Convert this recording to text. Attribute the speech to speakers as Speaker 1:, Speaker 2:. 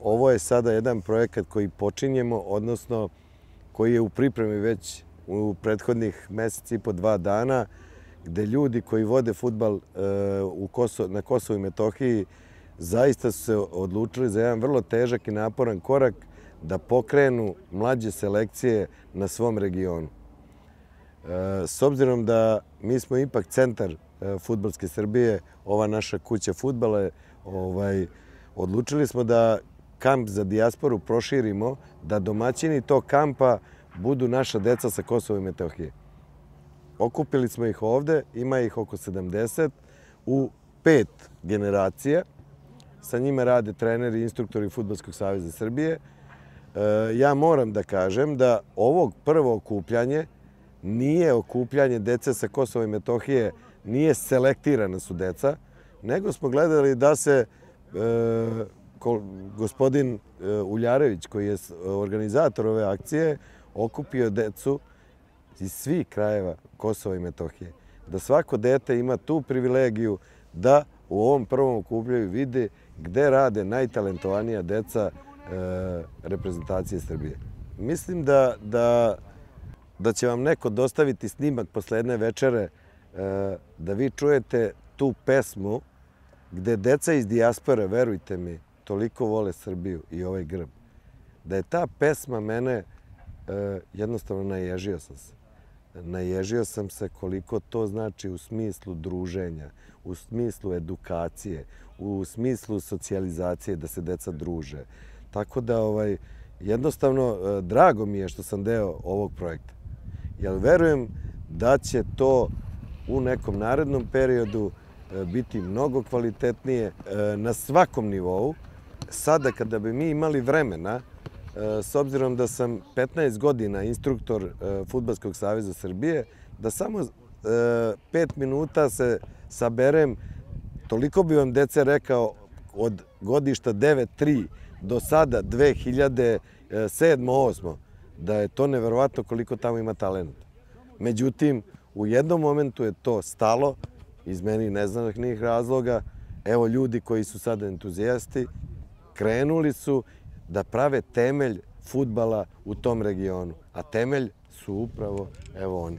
Speaker 1: ovo je sada jedan projekat koji počinjemo, odnosno koji je u pripremi već u prethodnih mesec i po 2 dana, gde ljudi koji vode fudbal na Kosovu i Metohiji zaista su se odlučili za jedan vrlo težak i naporan korak da pokrenu mlađe selekcije na svom regionu. S obzirom da mi smo ipak centar fudbalske Srbije, ova naša kuća fudbala, odlučili smo da kamp za dijasporu proširimo, da domaćini tog kampa budu naša deca sa Kosova i Metohije. Okupili smo ih ovde, ima ih oko 70, u 5 generacija. Sa njima rade treneri i instruktori Fudbalskog saveza Srbije. Ja moram da kažem da ovo prvo okupljanje nije okupljanje dece sa Kosova i Metohije, nije selektirana su deca, nego smo gledali da se gospodin Uljarević, koji je organizator ove akcije, okupio decu iz svih krajeva Kosova i Metohije. Da svako dete ima tu privilegiju da u ovom prvom okupljanju vide gde rade najtalentovanija deca reprezentacije Srbije. Mislim da će vam neko dostaviti snimak posle jedne večere da vi čujete tu pesmu gde deca iz dijaspore, verujte mi, toliko vole Srbiju i ovaj grb. Da je ta pesma mene, jednostavno naježio sam se. Naježio sam se koliko to znači u smislu druženja, u smislu edukacije, u smislu socijalizacije, da se deca druže. Tako da, jednostavno, drago mi je što sam deo ovog projekta. Jer verujem da će to u nekom narednom periodu biti mnogo kvalitetnije na svakom nivou. Sada kada bi mi imali vremena, s obzirom da sam 15 godina instruktor Fudbalskog saveza Srbije, da samo 5 minuta se saberem, toliko bi vam dece rekao od godišta 9-3 do sada 2007-2008, da je to neverovatno koliko tamo ima talenta. Međutim, u jednom momentu je to stalo, iz meni neznanih razloga. Evo ljudi koji su sada entuzijasti, krenuli su da prave temelj fudbala u tom regionu. A temelj su upravo, evo oni.